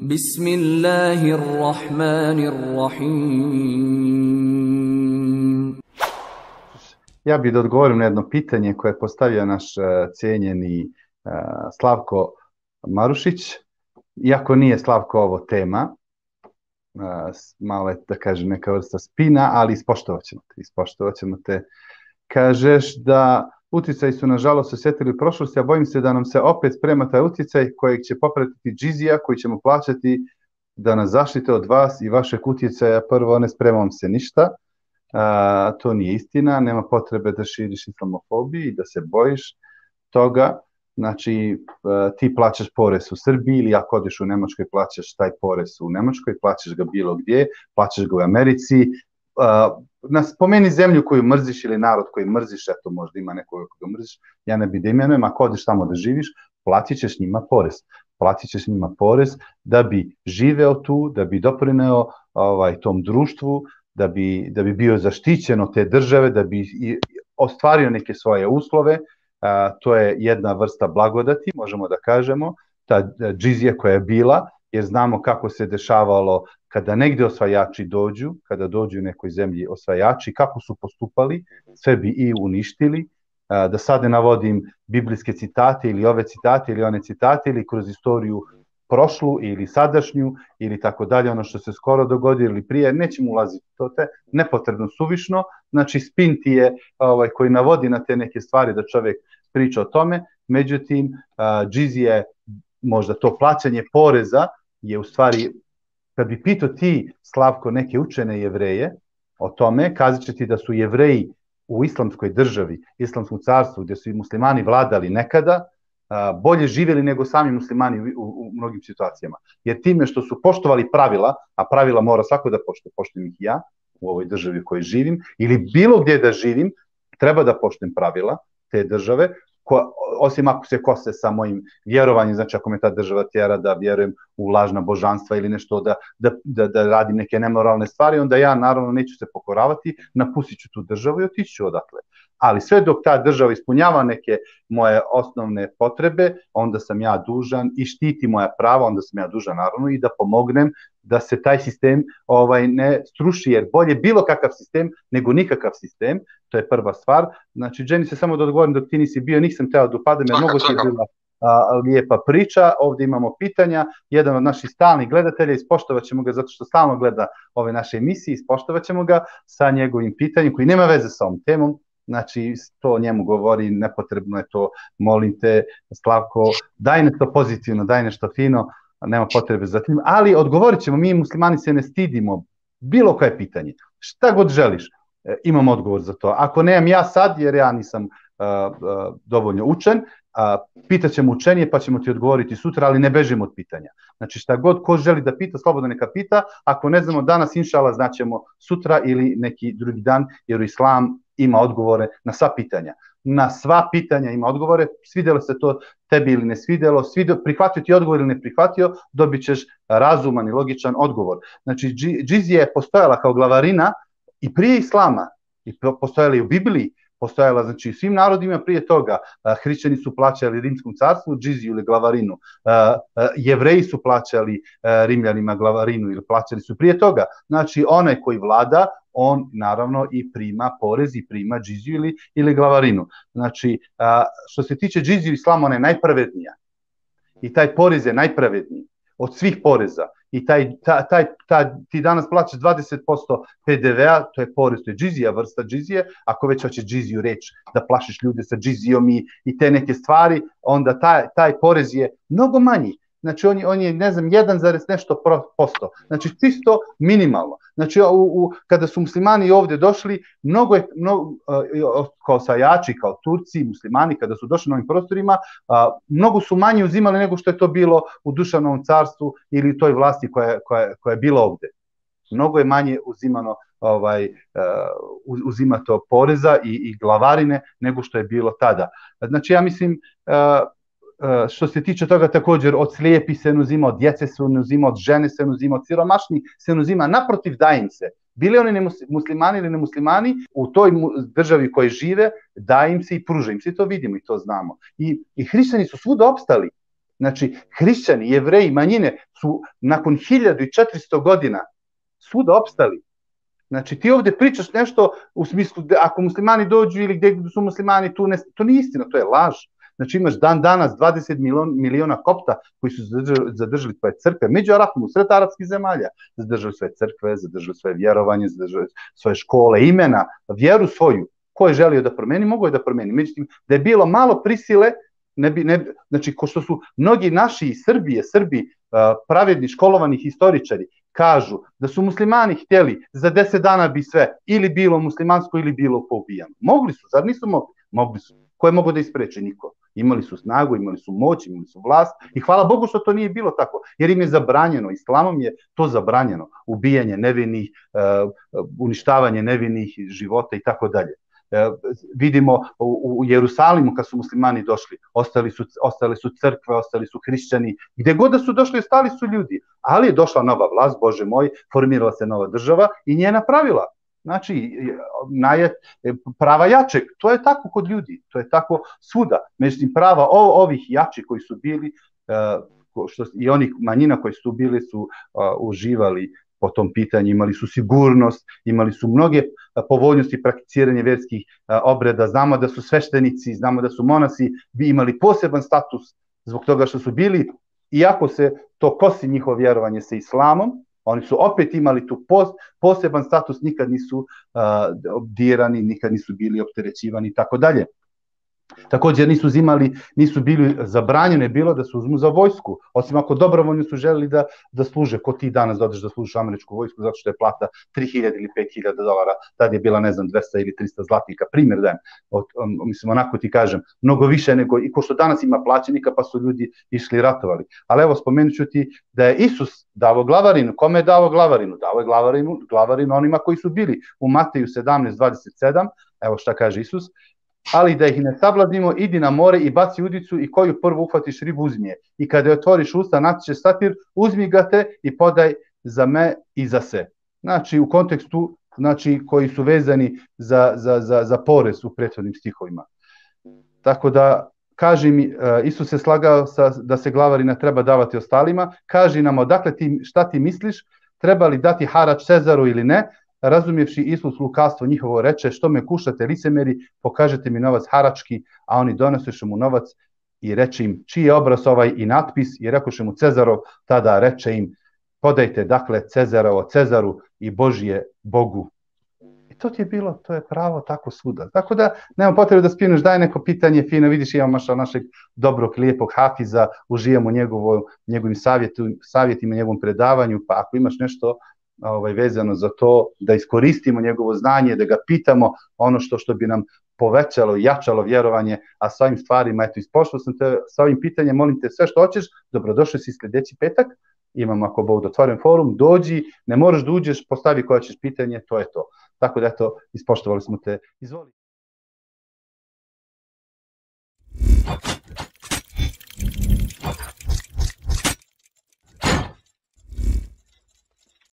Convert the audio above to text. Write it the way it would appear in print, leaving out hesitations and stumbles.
Bismillahirrahmanirrahim. Ja bih da odgovorim na jedno pitanje koje je postavio naš cijenjeni Slavko Marušić. Iako nije, Slavko, ovo tema, malo je, da kažem, neka vrsta spina, ali ispoštovat ćemo te. Kažeš da utjecaji su, nažalost, osjetili u prošlosti, a bojim se da nam se opet sprema taj utjecaj kojeg će popratiti džizija, koji ćemo plaćati da nas zaštite od vas i vašeg utjecaja. Prvo, ne spremam se ništa. To nije istina, nema potrebe da širiš islamofobiju i da se bojiš toga. Znači, ti plaćaš porez u Srbiji ili ako odeš u Nemačkoj plaćaš taj porez u Nemačkoj, plaćaš ga bilo gdje, plaćaš ga u Americi. Spomeni zemlju koju mrziš ili narod koji mrziš, eto možda ima nekoga koga mrziš, ja ne bi da imenujem, ako odeš tamo da živiš, platit ćeš njima porez. Platit ćeš njima porez da bi živeo tu, da bi doprineo tom društvu, da bi bio zaštićen od te države, da bi ostvario neke svoje uslove. To je jedna vrsta blagodati, možemo da kažemo, ta džizija koja je bila, jer znamo kako se dešavalo kada negdje osvajači dođu, kada dođu u nekoj zemlji osvajači, kako su postupali, sve bi i uništili. Da sad ne navodim biblijske citate ili ove citate ili one citate ili kroz istoriju prošlu ili sadašnju ili tako dalje, ono što se skoro dogodilo ili prije, nećemo ulaziti to te nepotrebno suvišno, znači spin ti je koji navodi na te neke stvari da čovjek priča o tome, međutim džizije, možda to plaćanje poreza je u stvari, kad bi pitao ti, Slavko, neke učene Jevreje o tome, kazat će ti da su Jevreji u islamskoj državi, islamskom carstvu, gdje su i muslimani vladali nekada, bolje živjeli nego sami muslimani u mnogim situacijama. Jer time što su poštovali pravila, a pravila mora svako da poštuje, poštujem ih ja u ovoj državi u kojoj živim, ili bilo gdje da živim, treba da poštujem pravila te države, osim ako se kose sa mojim vjerovanjem, znači ako me ta država tjera da vjerujem u lažna božanstva ili nešto, da radim neke nemoralne stvari, onda ja naravno neću se pokoravati, napustit ću tu državu i otići ću odatle. Ali sve dok ta država ispunjava neke moje osnovne potrebe, onda sam ja dužan i štiti moja prava, onda sam ja dužan naravno i da pomognem da se taj sistem ne struši, jer bolje bilo kakav sistem nego nikakav sistem, to je prva stvar. Znači, Jenny, se samo da odgovorim dok ti nisi bio, nisam teo da upadam, jer mnogo ti je bila lijepa priča. Ovdje imamo pitanja, jedan od naših stalnih gledatelja, ispoštovat ćemo ga zato što stalno gleda ove naše emisije, ispoštovat ćemo ga sa njegovim pitanjem koji nema veze sa ovom temom. Znači, to njemu govori, nepotrebno je to, molim te, Slavko, daj nešto pozitivno, daj nešto fino, nema potrebe za tim, ali odgovorit ćemo, mi muslimani se ne stidimo, bilo koje pitanje, šta god želiš, imam odgovor za to. Ako nemam ja sad, jer ja nisam dovoljno učen, pitat ćemo učenije pa ćemo ti odgovoriti sutra, ali ne bežimo od pitanja. Znači šta god ko želi da pita, slobodno neka pita, ako ne znamo danas, inšala, znaćemo sutra ili neki drugi dan, jer Islam ima odgovore na sva pitanja. Na sva pitanja ima odgovore, svidjelo se to tebi ili ne svidjelo, prihvatio ti odgovor ili ne prihvatio, dobit ćeš razuman i logičan odgovor. Znači, džizija je postojala kao glavarina i prije Islama, i postojala i u Bibliji, postojala, znači, svim narodima prije toga. Hrišćani su plaćali Rimskom carstvu džiziju ili glavarinu, Jevreji su plaćali Rimljanima glavarinu ili plaćali su prije toga. Znači, onaj koji vlada, on naravno i prima porez i prima džiziju ili glavarinu. Znači, što se tiče džiziju Islama, ona je najpravednija. I taj porez je najpravedniji od svih poreza. I ti danas plaćaš 20% PDV-a, to je porez, to je džizija, vrsta džizije. Ako već hoćeš džiziju reći da plašiš ljude sa džizijom i te neke stvari, onda taj porez je mnogo manji. Znači, on je, ne znam, 1, nešto posto. Znači, čisto minimalno. Znači, kada su muslimani ovdje došli, mnogo kao osvajači, kao Turci, muslimani, kada su došli na ovim prostorima, mnogo su manje uzimali nego što je to bilo u Dušanovom carstvu ili toj vlasti koja je bila ovdje. Mnogo je manje uzimato poreza i glavarine nego što je bilo tada. Znači, ja mislim, što se tiče toga također, od slijepi se ne uzima, od djece se ne uzima, od žene se ne uzima, od siromašnih se ne uzima, naprotiv daje im se. Bili oni muslimani ili nemuslimani, u toj državi koji žive, daje im se i pruža im se, i to vidimo i to znamo. I hrišćani su svuda opstali. Znači, hrišćani, jevreji, manjine su nakon 1400 godina svuda opstali. Znači, ti ovdje pričaš nešto u smislu da ako muslimani dođu ili gdje su muslimani, to nije istina, to je laž. Znači, imaš dan danas 20 miliona kopta koji su zadržali svoje crkve, među Arapima, u sred arapskih zemalja, zadržali svoje crkve, zadržali svoje vjerovanje, zadržali svoje škole, imena, vjeru svoju. Ko je želio da promeni, mogo je da promeni. Međutim, da je bilo malo prisile, znači, ko što su mnogi naši iz Srbi, pravedni, školovani historičari, kažu da su muslimani htjeli za 10 dana bi sve ili bilo muslimansko ili bilo poubijano. Mogli su, zar nisu mogli? Mogli su. Ko je mogao da ispreče? Niko. Imali su snagu, imali su moć, imali su vlast i hvala Bogu što to nije bilo tako, jer im je zabranjeno, islamom je to zabranjeno, ubijanje nevinih, uništavanje nevinih života i tako dalje. Vidimo u Jerusalimu kad su muslimani došli, ostale su crkve, ostali su hrišćani, gdje god da su došli, ostali su ljudi, ali je došla nova vlast, Bože moj, formirala se nova država i njena pravila. Znači, prava jačeg, to je tako kod ljudi, to je tako svuda. Međutim, prava ovih jači koji su bili, i onih manjina koji su bili su uživali po tom pitanju, imali su sigurnost, imali su mnoge povoljnosti prakticiranja vjerskih obreda, znamo da su sveštenici, znamo da su monasi imali poseban status zbog toga što su bili, iako se to kosi njihovo vjerovanje sa islamom, oni su opet imali tu poseban status, nikad nisu dirani, nikad nisu bili opterećivani i tako dalje. Također nisu bili zabranjene bilo da se uzmu za vojsku, osim ako dobrovoljno su želeli da služe, ko ti danas odeš da služiš američku vojsku zato što je plata 3.000 ili 5.000 dolara, tad je bila, ne znam, 200 ili 300 zlatnika, primjer dajem, mislim, onako ti kažem, mnogo više nego, i ko što danas ima plaćenika pa su ljudi išli ratovali. Ali evo, spomenut ću ti da je Isus davo glavarinu, kome je davo glavarinu? Davo je glavarinu onima koji su bili u Mateju 17:27, evo šta kaže Isus, ali da ih ne sablazimo, idi na more i baci udicu i koju prvo uhvatiš ribu uzmi je. I kada je otvoriš usta, naći će satir, uzmi ga te i podaj za me i za se. Znači, u kontekstu, znači, koji su vezani za porez u prethodnim stihovima. Tako da, kaži mi, Isus je slagao da se glavarina treba davati ostalima, kaži nam odakle šta ti misliš, treba li dati harač Cezaru ili ne, razumjevši Isus lukavstvo njihovo reče, što me kušate licemeri, pokažete mi novac harački, a oni donoseše mu novac i reče im, čiji je obraz ovaj i natpis, i rekoše mu Cezarov, tada reče im, podajte dakle Cezarovo Cezaru i Božije Bogu. I to ti je bilo, to je pravo tako svuda. Tako da, nema potrebe da spineš, daj neko pitanje fino, vidiš imamo našeg dobrog, lijepog hafiza, uživamo njegovim savjetima, njegovom predavanju, pa ako imaš nešto vezano za to, da iskoristimo njegovo znanje, da ga pitamo ono što bi nam povećalo i jačalo vjerovanje, a s ovim stvarima, eto, ispošao sam te sa ovim pitanjem, molim te sve što hoćeš, dobrodošli si sljedeći petak, imamo ako Bog otvoren forum, dođi, ne moraš da uđeš, postavi koja ćeš pitanje, to je to. Tako da, eto, ispoštovali smo te, izvoli.